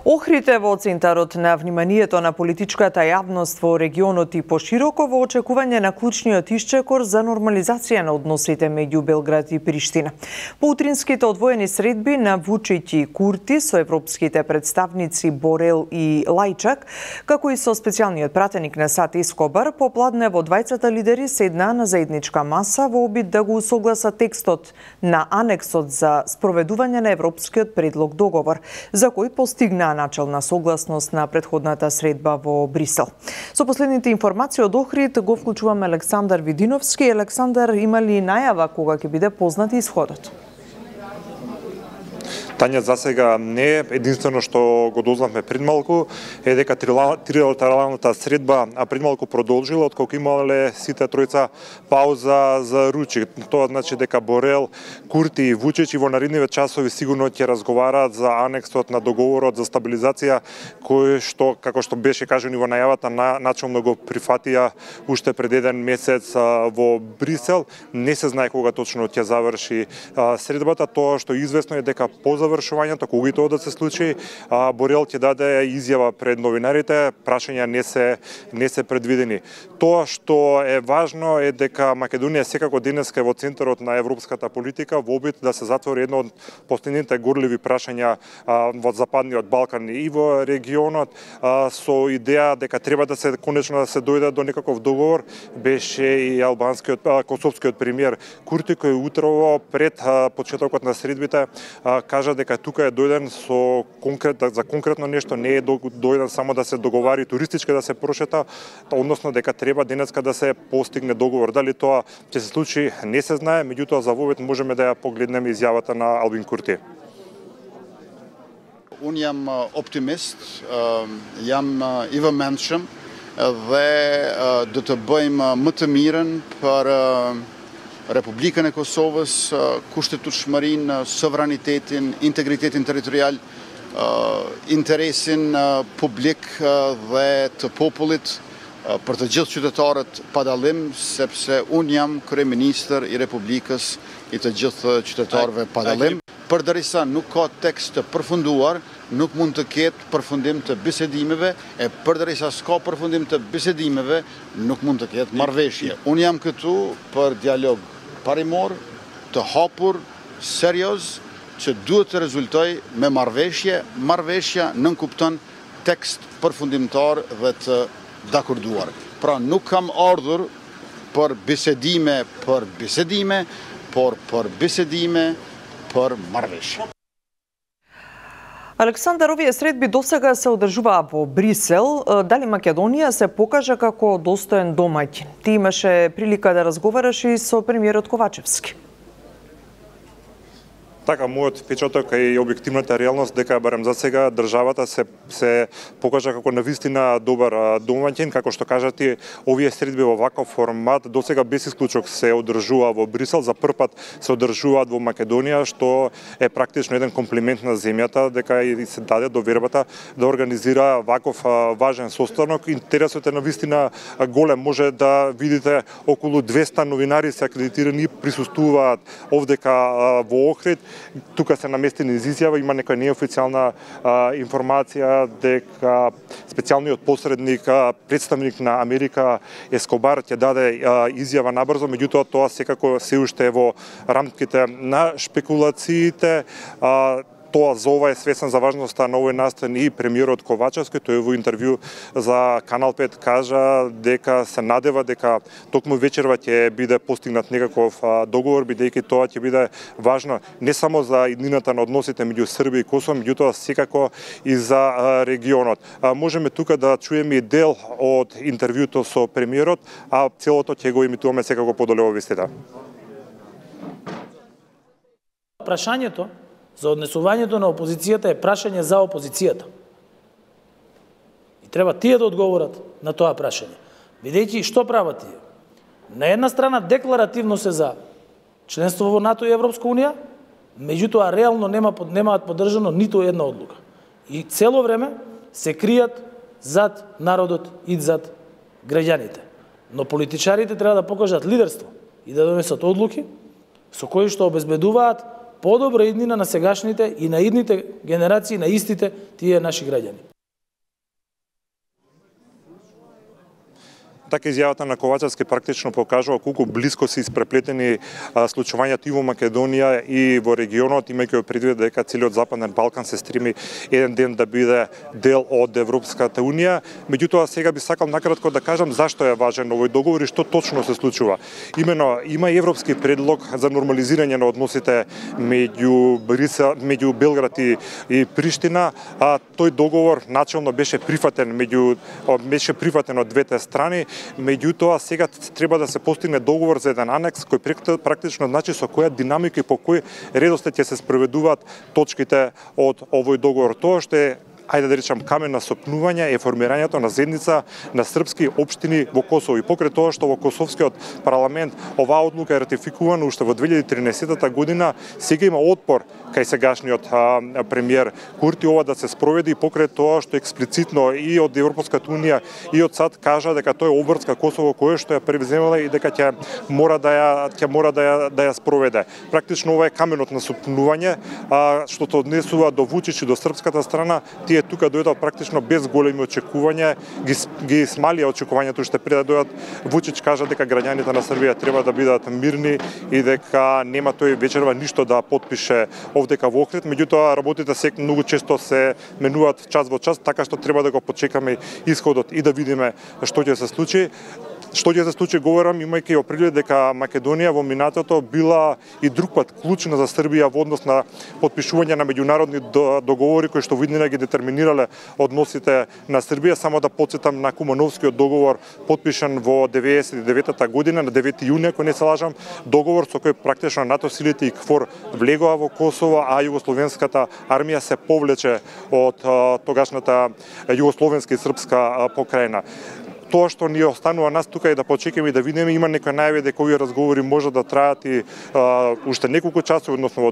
Охрид е во центарот на вниманието на политичката јавност во регионот и пошироко во очекување на клучниот исчекор за нормализација на односите меѓу Белград и Приштина. По утринските одвоени средби на Вучич и Курти со европските представници Борел и Лајчак, како и со специјалниот пратеник на САД Ескобар, попладне во двајцата лидери седнаа на заедничка маса во обид да го усогласат текстот на анексот за спроведување на европскиот предлог договор, за кој постигнаа начална согласност на претходната средба во Брисел. Со последните информации од Охрид го вклучуваме Александар Видиновски. Александар, има ли најава кога ќе биде познат исходот? Тања, за сега не. Единствено што го дознавме пред малку е дека трилатералната средба пред малку продолжила, отколку имале сите тројца пауза за ручек. Тоа значи дека Борел, Курти и Вучич и во наредниве часови сигурно ќе разговараат за анексот на договорот за стабилизација, кој што, како што беше кажано во најавата, начално го прифатија уште пред еден месец во Брисел. Не се знае кога точно ќе заврши средбата. Тоа што е известно е дека по завршувањето, кога и тоа да се случи, Борел ќе даде изјава пред новинарите, прашања не се предвидени. Тоа што е важно е дека Македонија секако денеска е во центарот на европската политика во обид да се затвори едно од последните горливи прашања во Западниот Балкан и во регионот, со идеја дека треба да се конечно да се дојде до некаков договор. Беше и косовскиот премиер Курти, кој утрово пред почетокот на средбите кажа дека тука е дојден за конкретно нешто, не е дојден само да се договари туристички да се прошета, односно дека треба денеска да се постигне договор. Дали тоа ќе се случи, не се знае, меѓутоа за вовет можеме да ја погледнеме изјавата на Албин Курти. Unë jam optimist, jam i vëmendshëm dhe do të bëjmë më të mirën për Republikën e Kosovës, kushtetueshmërinë, sovranitetin, integritetin territorial, interesin publik dhe të popullit për të gjithë qytetarët pa dallim, sepse unë jam kryeministër i Republikës i të gjithë qytetarëve pa dallim. Përderisa nuk ka tekst të përfunduar, nuk mund të ketë përfundim të bisedimeve, e përderisa s'ka përfundim të bisedimeve, nuk mund të ketë marrëveshje. Unë jam këtu për dialog parimor, të hapur, serioz, që duhet të rezultoj me marrëveshje. Marrëveshja nënkupton tekst përfundimtar dhe të dakorduar. Pra nuk kam ardhur për bisedime, por për bisedime për marrëveshje. Александар, овие средби досега се одржуваа во Брисел. Дали Македонија се покажа како достоен домаќин? Ти имаше прилика да разговараш и со премиерот Ковачевски. Така, мојот впечаток е и објективната реалност дека барем за сега државата се покажа како навистина добар домаќин, како што кажати, овие средби во ваков формат досега без исклучок се одржува во Брисел, за прв пат се одржуваат во Македонија, што е практично еден комплимент на земјата, дека и се даде довербата да организира ваков важен состанок. Интересот е навистина голем, може да видите околу 200 новинари се акредитирани, присуствуваат овдека во Охрид. Тука се наместени изјава, има некоја неофицијална информација дека специјалниот посредник, представник на Америка Ескобар ќе даде изјава набрзо, меѓутоа тоа секако се уште е во рамките на шпекулациите. Тоа за ова е свесен за важноста на овој настан и премиерот Ковачевски. Тој во интервју за Канал 5 кажа дека се надева дека токму вечерва ќе биде постигнат некаков договор, бидејќи тоа ќе биде важно не само за иднината на односите меѓу Србија и Косово, меѓутоа секако и за регионот. Можеме тука да чуеме и дел од интервјуто со премиерот, а целото ќе го емитуваме секако подоле во вестите. Прашањето за однесувањето на опозицијата е прашање за опозицијата. И треба тие да одговорат на тоа прашање. Бидејќи што прават тие? На една страна декларативно се за членство во НАТО и Европска унија, меѓутоа реално немаат поддржано ниту една одлука. И цело време се кријат зад народот и зад граѓаните. Но политичарите треба да покажат лидерство и да донесат одлуки со кои што обезбедуваат подобра иднина на сегашните и на идните генерации, на истите тие наши граѓани. Така изјавата на Ковачевски практично покажува колку блиско се испреплетени случувањата и во Македонија и во регионот, имајќи предвид дека целиот Западен Балкан се стреми еден ден да биде дел од Европската унија. Меѓутоа сега би сакал накратко да кажам зашто е важен овој договор и што точно се случува. Имено има европски предлог за нормализирање на односите меѓу Белград и Приштина, а тој договор начелно беше прифатен од двете страни. Меѓутоа сега треба да се постигне договор за еден анекс кој практично значи со која динамика и по кој редослед ќе се спроведуваат точките од овој договор. Тоа што е, ајде да речам, камен на сопнување е формирањето на заедница на српски општини во Косово. И покрај тоа што во Косовскиот парламент оваа одлука е ратификувана уште во 2013 година, сега има отпор кај сегашниот премиер Курти ова да се спроведе, и покрај тоа што експлицитно и од Европската унија и од САД кажа дека тој обврска Косово кој што ја превземала и дека ќе мора да ја спроведе. Практично ова е каменот на сопнување што се однесува до Вучич и до српската страна. Тие тука дојдоа практично без големи очекувања, ги смалија очекувањето уште пред да дојдат. Вучич кажа дека граѓаните на Србија треба да бидат мирни и дека нема тој вечерва ништо да потпише овдека во Охрид. Меѓутоа работите многу често се менуваат час во час, така што треба да го почекаме исходот и да видиме што ќе се случи. Што ќе се случи, говорам, имајќи предвид дека Македонија во минатото била и друг пат клучна за Србија во однос на потпишување на меѓународни договори кои што виднина ги детерминирале односите на Србија. Само да потсетам на Кумановскиот договор, потпишан во 1999 година, на 9 јуни, ако не се лажам, договор со кој практично НАТО силите и КФОР влегоа во Косово, а југословенската армија се повлече од тогашната југословенска и српска покрајна. Тоа што ни останува нас тука е да почекаме и да видиме, има некои најави дека овие разговори може да траат и уште неколку часови, односно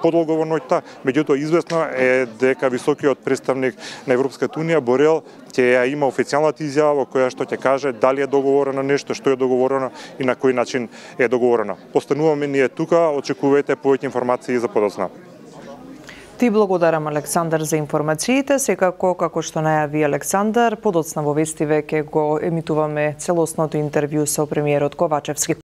подолго во ноќта. Меѓутоа известно е дека високиот представник на Европската унија Борел ќе ја има официјалната изјава во која што ќе каже дали е договорено нешто, што е договорено и на кој начин е договорено. Остануваме ние тука, очекувајте повеќе информации за подоцна. Ти благодарам, Александар, за информациите. Секако, како што најави Александар, подоцна во вестиве ќе го емитуваме целосното интервју со премиерот Ковачевски.